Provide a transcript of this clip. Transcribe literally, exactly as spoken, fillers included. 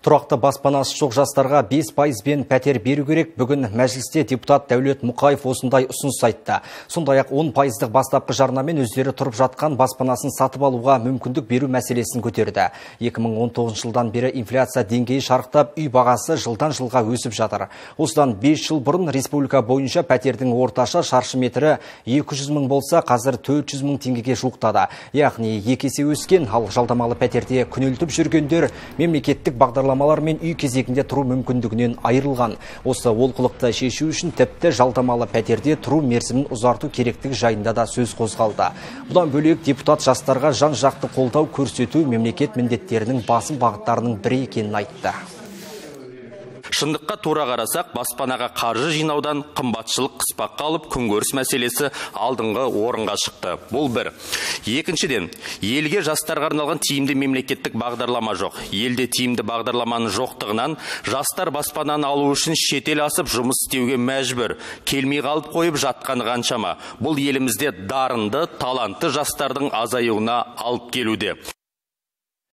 Тұрақты баспанасы жоқ жастарға бес пайызбен пәтер беру керек. Бүгін мәжілісте депутат Дәулет Мұқаев осындай ұсыныс айтты. Сондай-ақ он пайыздық бастапқы жарнамен өздері тұрып жатқан баспанасын сатып алуға мүмкіндік беру мәселесін көтерді. екі мың он тоғызыншы жылдан бері инфляция деңгейі шарықтап, үй бағасы жылдан жылға өсіп жатыр. Осыдан бес жыл бұрын республика бойынша пәтердің орташа шаршы метрі екі жүз мың болса, қазір төрт жүз мың теңгеге жуықтады. Яғни екі есе өскен, ал жалдамалы пәтерде күнелтіп жүргендер мемлекеттік бағдарламалар мен үй кезегінде тұру мүмкіндігінен айырылған. Осы олқылықты шешу үшін тіпті жалдамалы пәтерде тұру мерзімін ұзарту керектігі жайында да сөз қозғалды. Бұдан бөлек депутат жастарға жан-жақты қолдау көрсету мемлекет міндеттерінің басым бағыттарының бірі екенін айтты. Шындыққа тура қарасақ, баспанаға қаржы жинаудан қымбатшылық қыспаққа алып, күнкөріс мәселесі алдыңғы орынға шықты. Бұл бір. Екіншіден, елге жастарға арналған тиімді мемлекеттік бағдарлама жоқ. Елде тиімді бағдарламаның жоқтығынан жастар баспананы алу үшін шетел асып жұмыс істеуге мәжбүр. Келмей қалып қойып жатқан қаншама. Бұл елімізде дарынды, талантты жастардың азаюына алып келуде.